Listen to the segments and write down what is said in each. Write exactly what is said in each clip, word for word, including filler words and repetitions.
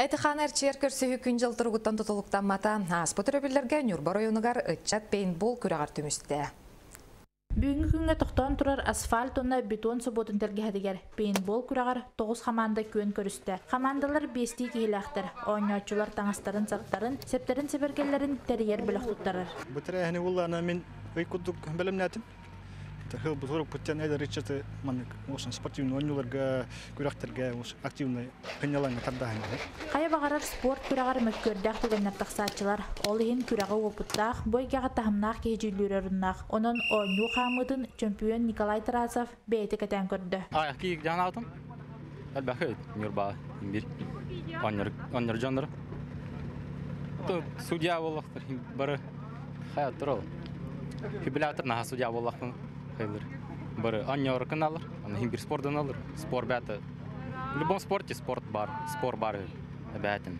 Эти-хааны эрчийэр көрсүһүү күн-дьыл туругуттан тутулуктаммата. Ааспыт өрөбүллэргэ Ньурба оройуонугар ыччат пейнтбол күрэҕэр түмүстэ. Бүгүҥҥү күҥҥэ тохтоон турар асфальт уонна бетон собуотун тэлгэһэтигэр пейнтбол күрэҕэр тоҕус хамаанда күөн көрүстэ. Хамаандалар биэстии киһилээхтэр. Оонньооччулар таҥастарын-саптарын, сэптэрин-сэбиргэллэрин тэрийэр бөлөх туттарар. Бу тэрээһини буллаана мин ый курдук бэлэмнээтим. Хыл бу эдэр ыччаты маннык спортивный оонньууларга, күрэхтэргэ активный сынньалаҥҥа тардааһын. Хайа баҕарар спорт күрэҕэр мөккүөрдээх түгэннэр тахсааччылар. Ол иһин күрэҕи уопуттаах, бу эйгэҕэ таһымнаах киһи дьүүллүүр оруннаах. Онон оонньуу хаамыытын чөмпүйүөн Николай Тарасов бэйэтэ кэтээн көрдө. А, ки жанаатым. Элбэхи Ньурба бир оннор оннор дьоннор. То судья боллахтар бары хаяттыр ол. Фибриллятор наха судья боллахпын хайлыр. Бары оннор кыналар, аны бир спордан алыр. Спорт бәті. В любом спорте спорт бар, спорт бар бәтин.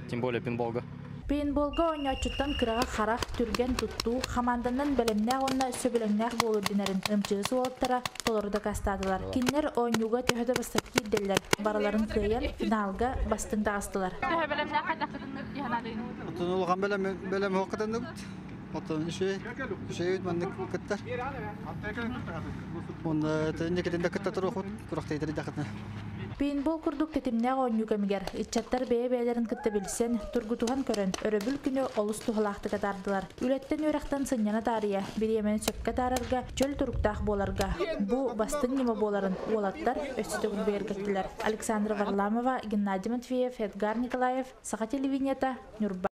Тем более пейнтболга. Пейнтболга оонньооччуттан кыраҕа харах, түргэн туттуу, хамаанданан бэлэмнээх уонна сөбүлэҥнээх буолуу ирдэнэрин ымчыыс уолаттара толору дакаастаатылар. Кинилэр оонньууга төһө да бастакы киирдэллэр, барыларын кыайан финалга бастыҥ таҕыстылар. Төһө бэлэмнээх хайдах кытыннык диһанадыын? Отон улахан бэлэм бэлэм кытынныбыт. Отон үчүгэй үчүгэй маннык кыттар. Онно тэнникитин да кытта туруохут күрэхтэһиилэри дьахытына. Пейнтбол курдук тэтимнээх оонньуу кэмигэр ыччаттар бэйэ-бэйэлэрин кытта билсэн, тургутуһан көрөн, өрөбүл күнү олус туһалаахтык атаардылар. Үлэттэн үөрэхтэн сынньана таарыйа, бириэмэни сөпкө атаарарга, чөл туруктаах буоларга бу бастыҥ ньыма буоларын уолаттар өссө төгүл бигэргэттилэр. Александра Варламова, Геннадий Матвеев, Эдгар Николаев, Саха телевидениета, Ньурба.